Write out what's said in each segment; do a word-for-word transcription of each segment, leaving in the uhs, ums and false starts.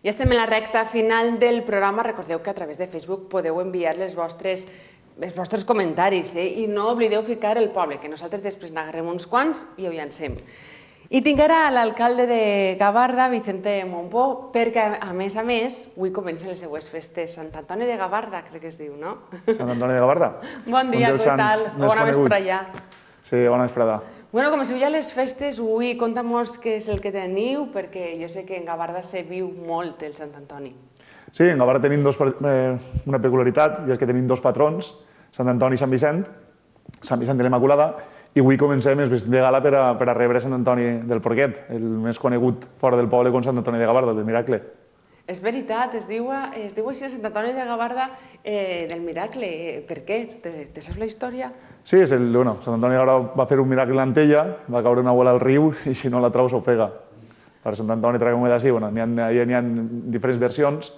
Ja estem en la recta final del programa. Recordeu que a través de Facebook podeu enviar les vostres, els vostres comentaris i no oblideu ficar el poble, que nosaltres després n'agarrem uns quants i ho llancem. I tinc ara l'alcalde de Gavarda, Vicente Mompó, perquè a més a més avui comencen les seues festes. Sant Antoni de Gavarda, crec que es diu, no? Sant Antoni de Gavarda. Bon dia, què tal? Bona vesprada. Sí, bona vesprada. Bueno, comenceu ja les festes, avui conta'm-nos què és el que teniu, perquè jo sé que en Gavarda se viu molt el Sant Antoni. Sí, en Gavarda tenim una peculiaritat, i és que tenim dos patrons, Sant Antoni i Sant Vicent, Sant Vicent de l'Immaculada, i avui comencem el vestit de gala per a rebre Sant Antoni del Porquet, el més conegut fora del poble com Sant Antoni de Gavarda, del Miracle. És veritat, es diu així Sant Antoni de Gavarda del Miracle. Per què? Te saps la història? Sí, Sant Antoni de Gavarda va fer un miracle en Antella, va caure una bola al riu i si no la trau s'ofega. Per Sant Antoni traguem-ho d'ací, n'hi ha diferents versions,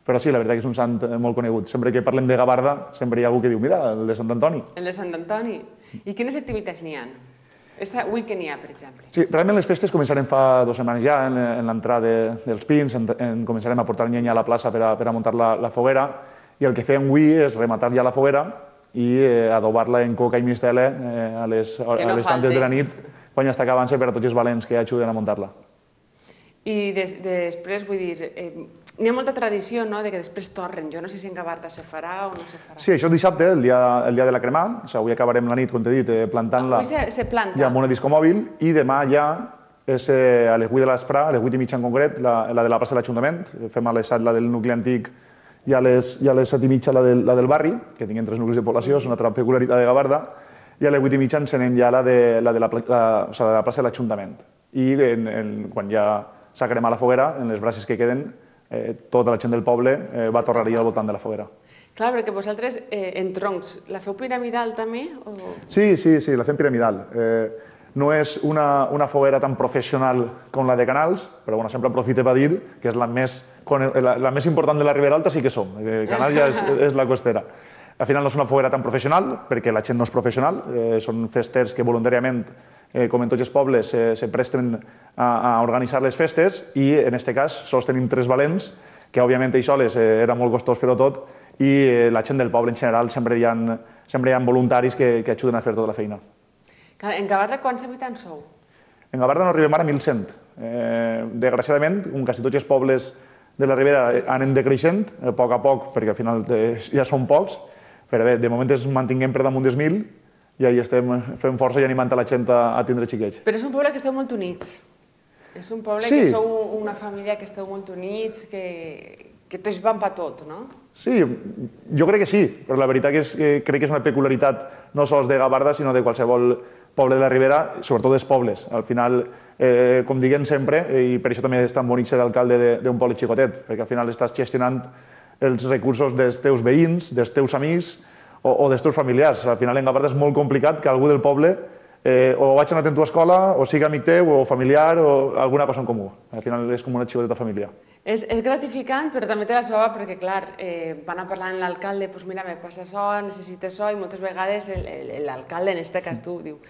però sí, la veritat que és un sant molt conegut. Sempre que parlem de Gavarda, sempre hi ha algú que diu, mira, el de Sant Antoni. El de Sant Antoni. I quines activitats n'hi ha? Avui què n'hi ha, per exemple? Sí, realment les festes començarem fa dues setmanes ja, en l'entrada dels pins, començarem a portar llenya a la plaça per a muntar la foguera, i el que fem avui és rematar ja la foguera i adobar-la en coca i mistela a les tantes de la nit, quan ja està acabant-se per a tots els valents que ajuden a muntar-la. I després, vull dir, n'hi ha molta tradició, no?, que després torren. Jo no sé si en Gavarda se farà o no se farà. Sí, això és dissabte, el dia de la cremà. Avui acabarem la nit, com t'he dit, plantant-la ja amb una discomòbil, i demà ja és a les vuit de l'esprà, a les vuit i mitja en concret, la de la plaça de l'Ajuntament. Fem a les set la del nucli antic i a les set i mitja la del barri, que tinguem tres nuclis de població, és una altra peculiaritat de Gavarda, i a les vuit i mitja encenem ja la de la plaça de l'Ajuntament. I quan ja s'ha cremat la foguera, en les brases que queden, tota la gent del poble va tornar al voltant de la foguera. Clar, perquè vosaltres, en troncs, la feu piramidal també? Sí, sí, sí, la fem piramidal. No és una foguera tan professional com la de Canals, però sempre aprofite per dir que és la més important de la Ribera Alta, sí que som. Canals ja és la costera. Al final no és una foguera tan professional, perquè la gent no és professional, són festers que voluntàriament, com en tots els pobles, se presten a organitzar les festes i, en aquest cas, sols tenim tres valents, que, òbviament, ells soles era molt costós fer-ho tot, i la gent del poble, en general, sempre hi ha voluntaris que ajuden a fer tota la feina. En Gavarda, quants habitants sou? En Gavarda no arribem ara a mil cent. Desgraciadament, com quasi tots els pobles de la Ribera anem decreixent, a poc a poc, perquè al final ja són pocs, però bé, de moment ens mantinguem per damunt dels mil, i ahí estem fent força i animant la gent a tindre xiquets. Però és un poble que esteu molt units. És un poble que sou una família que esteu molt units, que tots van per tot, no? Sí, jo crec que sí, però la veritat és que crec que és una peculiaritat no sols de Gavarda, sinó de qualsevol poble de la Ribera, sobretot dels pobles. Al final, com diguem sempre, i per això també és tan bonic ser alcalde d'un poble xicotet, perquè al final estàs gestionant els recursos dels teus veïns, dels teus amics, o dels teus familiars. Al final, en Gavarda és molt complicat que algú del poble o vaig anar a tu escola, o sigui amic teu, o familiar, o alguna cosa en comú. Al final és com una xicoteta família. És gratificant, però també té la seva, perquè, clar, van a parlar amb l'alcalde, doncs mira, me passa això, necessites això, i moltes vegades l'alcalde, en aquest cas tu, diu,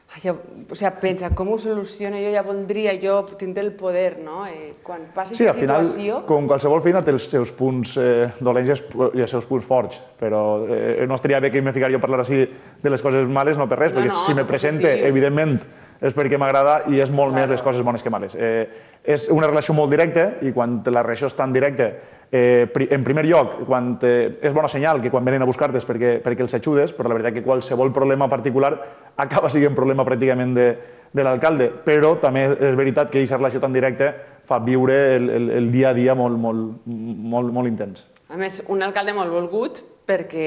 o sigui, pensa, com ho soluciono jo, ja voldria jo tindre el poder, no? Quan passi aquesta situació... Sí, al final, com qualsevol feina té els seus punts dolents i els seus punts forts, però no estaria bé que me ficaria jo a parlar així de les coses males, no per res, perquè si me presente, evidentment, és perquè m'agrada i és molt més les coses bones que males. És una relació molt directa i quan la relació és tan directa, en primer lloc, és bona senyal que quan venen a buscar-te és perquè els ajudes, però la veritat que qualsevol problema particular acaba sent problema pràcticament de l'alcalde, però també és veritat que aquesta relació tan directa fa viure el dia a dia molt intens. A més, un alcalde molt volgut, perquè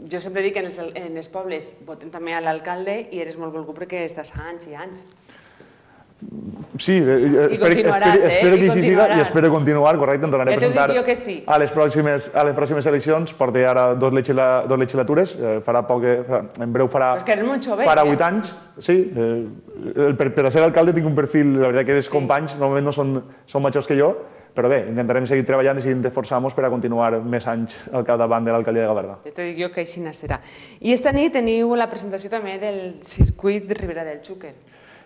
jo sempre dic que en els pobles votem també a l'alcalde i eres molt volgut perquè estàs anys i anys. Sí, espero que així siga i espero continuar, correcte, em tornaré a presentar a les pròximes eleccions, porto ara dos legislatures, farà poc, en breu farà vuit anys, sí, per a ser alcalde tinc un perfil, la veritat que els companys normalment no són majors que jo, però bé, intentarem seguir treballant i seguir esforçant-nos per a continuar més anys al capdavant de l'alcaldia de Gavarda. Ja t'ho dic jo que així serà. I esta nit teniu la presentació també del circuit de Ribera del Xúquer.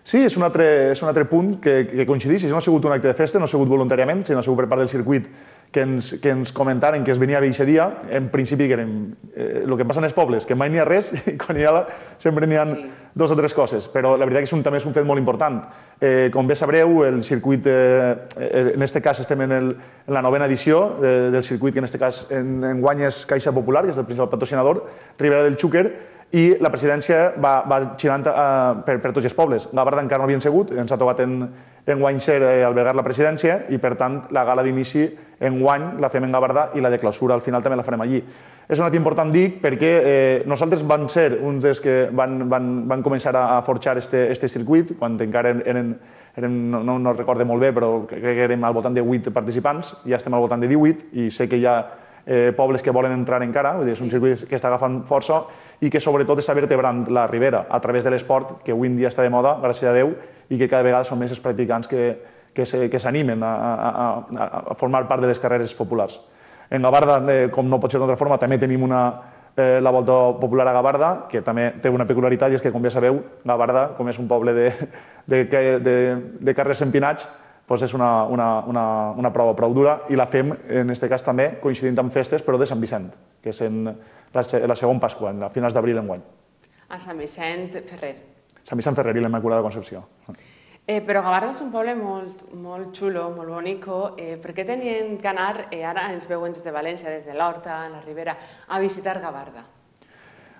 Sí, és un altre punt que coincideix. No ha sigut un acte de festa, no ha sigut voluntàriament, sinó ha sigut per part del circuit que ens comentaren que es venia a aquest dia. En principi, el que passa en els pobles, que mai n'hi ha res i quan hi ha sempre n'hi ha dues o tres coses. Però la veritat que també és un fet molt important. Com bé sabreu, el circuit, en aquest cas estem en la novena edició del circuit, que en aquest cas enguany és Caixa Popular, que és el principal patrocinador, Ribera del Xúquer, i la presidència va girant per tots els pobles. Gavarda encara no havien sigut, ens ha tocat enguany ser albergar la presidència i, per tant, la gala d'inici enguany la fem en Gavarda i la de clausura al final també la farem allí. És un acte important, dic, perquè nosaltres vam ser uns dels que van començar a forjar aquest circuit, quan encara eren, no recorde molt bé, però crec que érem al voltant de vuit participants, ja estem al voltant de divuit i sé que hi ha pobles que volen entrar encara, és un circuit que està agafant força i que sobretot està vertebrant la Ribera a través de l'esport, que avui en dia està de moda, gràcies a Déu, i que cada vegada són més els practicants que s'animen a formar part de les carreres populars. En Gavarda, com no pot ser d'altra forma, també tenim la Volta Popular a Gavarda, que també té una peculiaritat, i és que, com bé sabeu, Gavarda, com és un poble de carrers empinats, és una prova prou dura i la fem, en aquest cas també, coincidint amb festes, però de Sant Vicent, que és la segona Pasqua, a finals d'abril enguany. A Sant Vicent Ferrer. Sant Vicent Ferrer i la Immaculada Concepció. Però Gavarda és un poble molt xulo, molt bonico. Per què tenien que anar, ara ens veuen des de València, des de l'Horta, a la Ribera, a visitar Gavarda?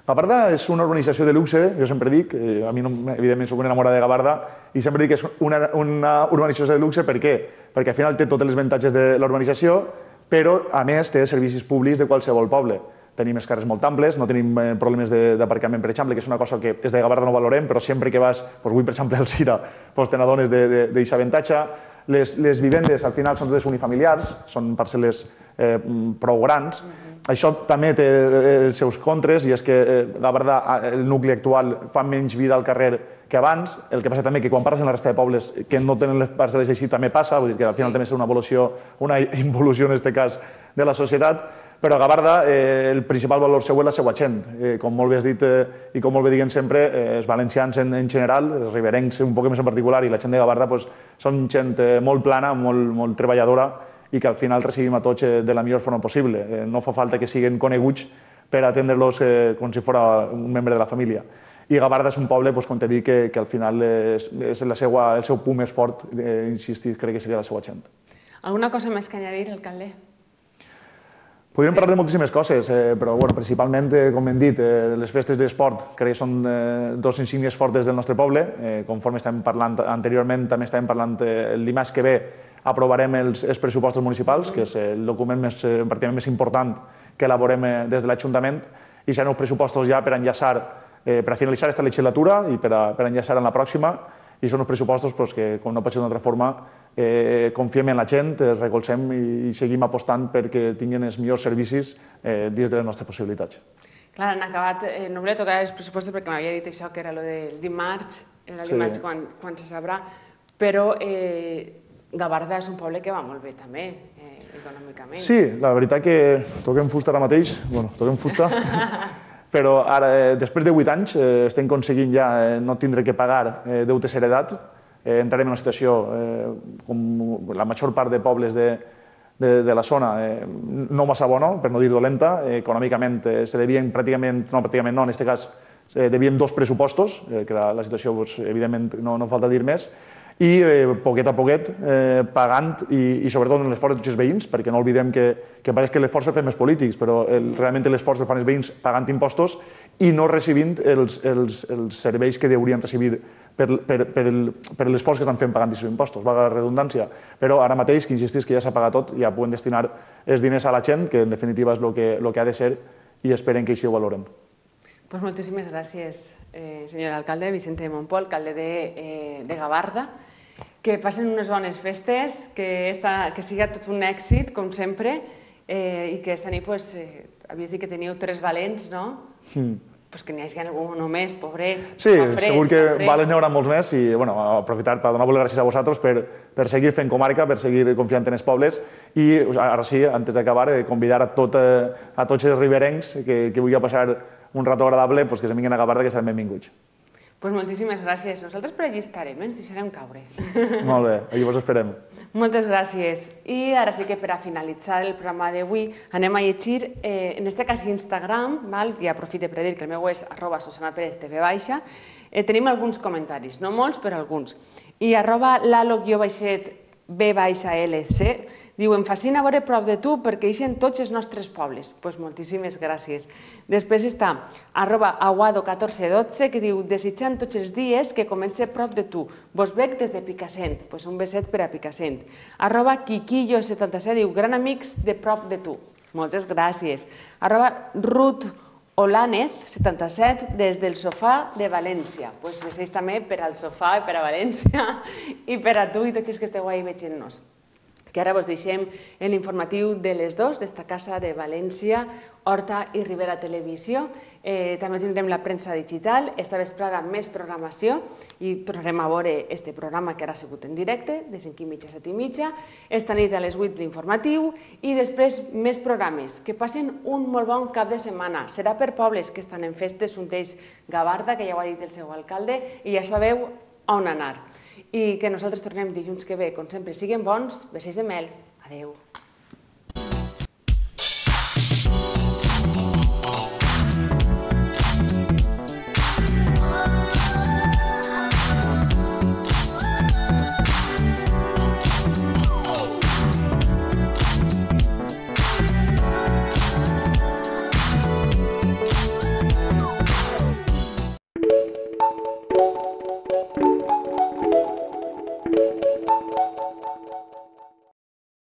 Gavarda és una urbanització de luxe, jo sempre dic, a mi evidentment soc una enamorada de Gavarda, i sempre dic que és una urbanització de luxe, per què? Perquè al final té tots els avantatges de la urbanització, però a més té serveis públics de qualsevol poble. Tenim els carrers molt amples, no tenim problemes d'aparcament, per exemple, que és una cosa que des de Gavarda no valorem, però sempre que vas, avui per exemple al Cira, te n'adones d'aquest avantatge. Les vivendes al final són totes unifamiliars, són parcel·les prou grans. Això també té els seus contres, i és que Gavarda, el nucli actual, fa menys vida al carrer que abans. El que passa també que quan parles en la resta de pobles que no tenen les parcel·les així també passa, vull dir que al final també és una evolució, una involució en aquest cas de la societat, però a Gavarda el principal valor seu és la seva gent. Com molt bé has dit i com molt bé diguen sempre, els valencians en general, els riberencs un poc més en particular i la gent de Gavarda són gent molt plana, molt treballadora i que al final recibim a tots de la millor forma possible. No fa falta que siguin coneguts per atendre-los com si fos un membre de la família. I Gavarda és un poble, com t'he dit, que al final el seu punt més fort, insistir, crec que seria la seva gent. Alguna cosa més que añadir, alcalde? Podríem parlar de moltíssimes coses, però principalment, com hem dit, les festes de l'esport crec que són dos insígnies fortes del nostre poble. Conforme estàvem parlant anteriorment, també estàvem parlant el dimarts que ve aprovarem els pressupostos municipals, que és el document pràcticament més important que elaborem des de l'Ajuntament, i seran uns pressupostos ja per enllaçar, per finalitzar aquesta legislatura i per enllaçar en la pròxima, i són uns pressupostos que, com no pot ser d'una altra forma, confiem en la gent, els recolzem i seguim apostant perquè tinguin els millors servicis dins de les nostres possibilitats. Clar, han acabat, no volia tocar els pressupostos perquè m'havia dit això, que era el del dimarts, el dimarts quan se sabrà, però Gavarda és un poble que va molt bé també, econòmicament. Sí, la veritat que toquem fusta ara mateix, bueno, toquem fusta, però ara, després de vuit anys, estem aconseguint ja no tindre que pagar deutes heredats. Entrarem en una situació, com la major part de pobles de la zona, no massa bona, per no dir dolenta. Econòmicament se devien pràcticament, no pràcticament no, en aquest cas, devien dos pressupostos, que la situació, evidentment, no falta dir més, i poquet a poquet pagant, i sobretot en l'esforç de tots els veïns, perquè no oblidem que pareix que l'esforç el fem els polítics, però realment l'esforç el fan els veïns pagant impostos i no recibint els serveis que haurien recibir per l'esforç que estan fent pagant aquests impostos, valga la redundància. Però ara mateix, que insistís que ja s'ha pagat tot, ja podem destinar els diners a la gent, que en definitiva és el que ha de ser, i esperen que així ho valoren. Pues moltíssimes gràcies, senyor alcalde, Vicente Montpol, alcalde de Gavarda. Que passen unes bones festes, que siga tot un èxit, com sempre, i que aquesta nit, havies dit que teníeu tres valents, no? Que n'hi hagi algú només, pobrets, sí, segur que valents n'hi haurà molts més i aprofitar per donar-vos les gràcies a vosaltres per seguir fent comarca, per seguir confiant en els pobles i ara sí, antes d'acabar, convidar a tots els riberencs que vulguin passar un rato agradable que se vinguin a Gavarda, que seran benvinguts. Doncs moltíssimes gràcies. Nosaltres per allí estarem, ens deixarem caure. Molt bé, aquí vos esperem. Moltes gràcies. I ara sí que per a finalitzar el programa d'avui anem a llegir, en aquest cas Instagram, i aprofito per dir que el meu és arroba Susana Pérez T V baixa, tenim alguns comentaris, no molts, però alguns. I arroba lalo-baixet B baixa L C diu, em fascina veure prop de tu perquè ixen tots els nostres pobles. Doncs moltíssimes gràcies. Després està arroba aguado catorze dotze que diu, desitjant tots els dies que comenci prop de tu. Vos veig des de Picassent. Doncs un beset per a Picassent. Arroba quiquillo setanta-set diu, gran amics de prop de tu. Moltes gràcies. Arroba Ruth Olánez, setanta-set, des del sofà de València. Doncs besets també per al sofà, per a València i per a tu i tots els que esteu ahí veient-nos. Que ara vos deixem l'informatiu de les dues d'esta casa de València, Horta i Ribera Televisió. També tindrem la premsa digital, esta vesprada més programació i tornarem a veure este programa que ara ha sigut en directe, de cinc i mitja a set i mitja, esta nit a les vuit l'informatiu i després més programes. Que passen un molt bon cap de setmana. Serà per pobles que estan en festes, un d'ells Gavarda, que ja ho ha dit el seu alcalde, i ja sabeu on anar. I que nosaltres tornem dilluns que ve, com sempre, siguin bons, besets de mel. Adéu.